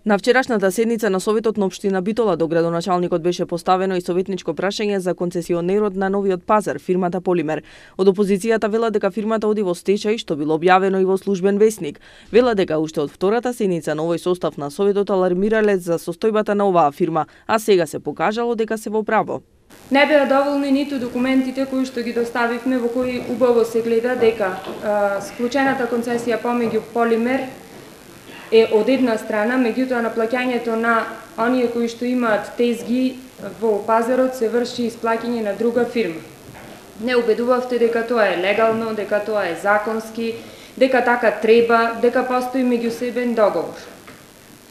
На вчерашната седница на Советот на општина Битола до градоначалникот беше поставено и советничко прашање за концесионерот на новиот пазар, фирмата Полимер. Од опозицијата вела дека фирмата оди во стечај, што било објавено и во службен весник. Вела дека уште од втората седница на овој состав на Советот алармирале за состојбата на оваа фирма, а сега се покажало дека се во право. Не беа доволни ниту документите кои што ги доставивме, во кои убаво се гледа дека склучената концесија помеѓу Полимер е од една страна, меѓутоа на плаќањето на оние кои што имаат тезги во пазарот се врши исплаќање на друга фирма. Не убедувавте дека тоа е легално, дека тоа е законски, дека така треба, дека постои меѓусебен договор.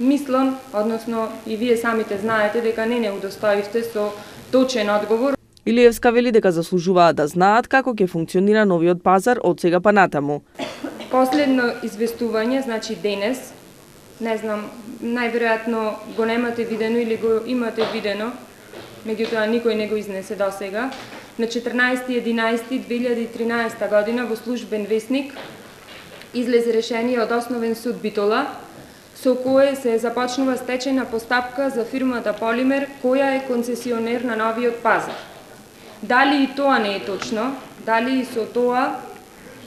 Мислам, односно и вие самите знаете дека не удостоивте со точен одговор. Илиевска вели дека заслужуваат да знаат како ќе функционира новиот пазар од сега па натаму. Последно известување, значи денес, не знам, најверојатно го немате видено или го имате видено, меѓутоа никој не го изнесе до сега. На 14.11.2013 година во службен весник излезе решение од Основен суд Битола, со кое се започнува стечајна постапка за фирмата Полимер, која е концесионер на новиот пазар. Дали и тоа не е точно, дали и со тоа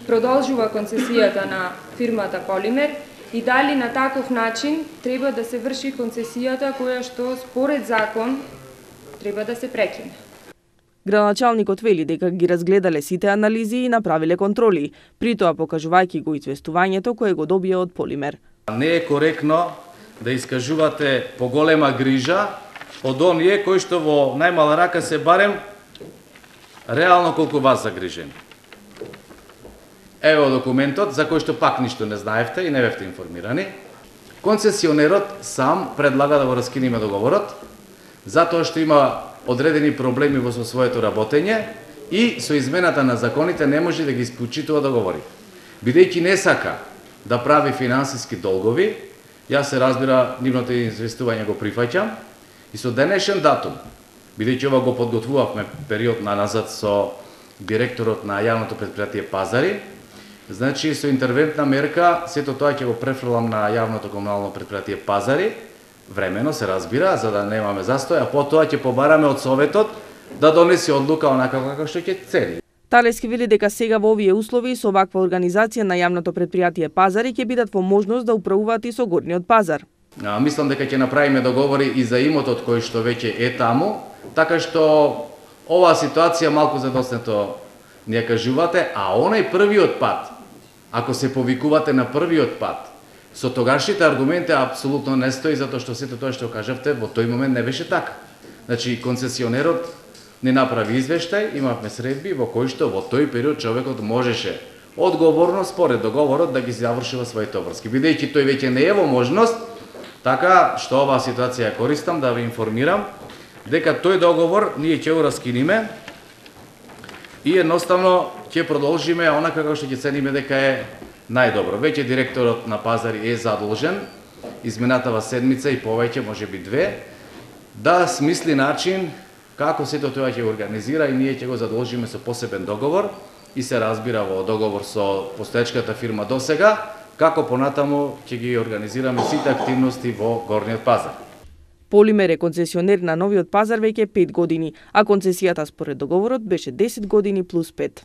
продолжува концесијата на фирмата Полимер, и дали на таков начин треба да се врши концесијата која што според закон треба да се прекине. Градоначалникот вели дека ги разгледале сите анализи и направиле контроли, при тоа покажувајќи го известувањето кое го добија од Полимер. Не е коректно да искажувате поголема грижа од оние кои што во најмала рака се барем реално колку вас загрижени. Ево документот за кој што пак ништо не знаевте и не бевте информирани. Концесионерот сам предлага да го раскинеме договорот, затоа што има одредени проблеми во своето работење и со измената на законите не може да ги исклучитува договори. Бидејќи не сака да прави финансиски долгови, јас се разбира нивното известување го прифаќам и со денешен датум, бидејќи ова го подготвувавме период назад со директорот на јавното претпријатие Пазари, значи со интервентна мерка сето тоа ќе го префрлам на јавното комунално претпријатие Пазари, времено се разбира, за да немаме застој, а потоа ќе побараме од Советот да донесе одлука онака како што ќе цели. Талески вели дека сега во овие услови со ваква организација на јавното претпријатие Пазари ќе бидат во можност да управуваат и со горниот пазар. Мислам дека ќе направиме договори и за имотот кој што веќе е таму, така што оваа ситуација малку задоснето ни ја кажувате, а онај првиот пат, ако се повикувате на првиот пат, со тогашните аргументи апсолутно не стои, затоа што сето тоа што кажавте во тој момент не беше така. Значи концесионерот не направи извештај, имавме средби во кои што во тој период човекот можеше одговорно според договорот да ги завршува своите обврски. Бидејќи тој веќе не е во можност, така што оваа ситуација ја користам да ве информирам дека тој договор ние ќе го раскиниме и едноставно ќе продолжиме онака како што ќе цениме дека е најдобро. Веќе директорот на Пазари е задолжен изминатава седмица и повеќе, можеби две, да смисли начин како сето тоа ќе организира и ние ќе го задолжиме со посебен договор и се разбира во договор со постоечката фирма досега, како понатаму ќе ги организираме сите активности во горниот пазар. Полимер е концесионер на новиот пазар веќе 5 години, а концесијата според договорот беше 10 години плюс 5.